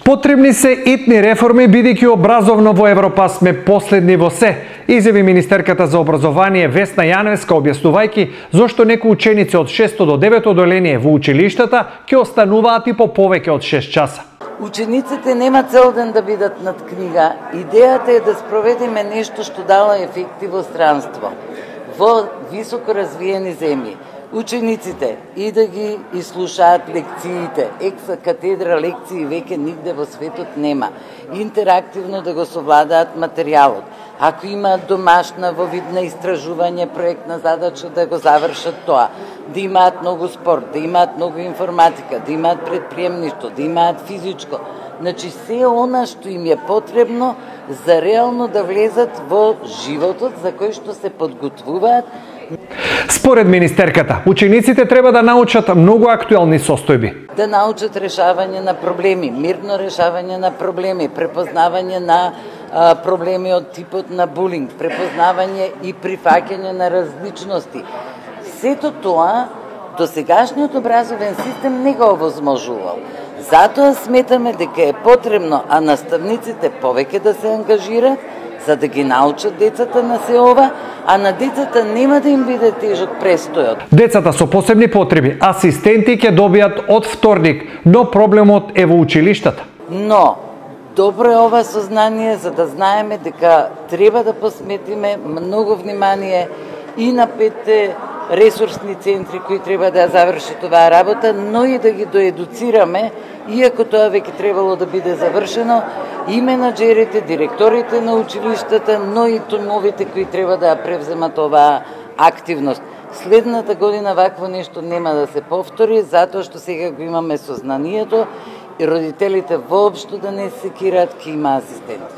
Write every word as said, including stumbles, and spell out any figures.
Потребни се итни реформи, бидејќи образовно во Европа сме последни во се, изјави министерката за образование Весна Јаневска, објаснувајќи зошто некои ученици од шесто до девето одделение во училиштата ќе остануваат и по повеќе од шест часа. Учениците нема цел ден да бидат над книга. Идејата е да спроведеме нешто што дало ефекти во странство, во високо развиени земји. Учениците и да ги изслушаат лекциите, екса катедра лекции веќе нигде во светот нема. Интерактивно да го совладаат материјалот. Ако имаат домашна во вид на истражување, проектна задача да го завршат тоа. Да имаат многу спорт, да имаат многу информатика, да имаат предприемништво, да имаат физичко. Значи се она што им е потребно за реално да влезат во животот за кој што се подготвуваат. Според министерката, учениците треба да научат многу актуелни состојби. Да научат решавање на проблеми, мирно решавање на проблеми, препознавање на а, проблеми од типот на булинг, препознавање и прифаќање на различности. Сето тоа досегашниот образовен систем не го овозможувал. Затоа сметаме дека е потребно, а наставниците повеќе да се ангажират, за да ги научат децата на се ова, а на децата нема да им биде тежок престојот. Децата со посебни потреби, асистенти ќе добијат од вторник, но проблемот е во училиштата. Но, добро е ова сознание за да знаеме дека треба да посметиме многу внимание и на петте ресурсни центри кои треба да завршат оваа работа, но и да ги доедуцираме, иако тоа веќе требало да биде завршено, и менаџерите, директорите на училиштата, но и тимовите кои треба да ја превземат оваа активност. Следната година вакво нешто нема да се повтори, затоа што сега го имаме сознанието и родителите воопшто да не се секираат ке има асистенти.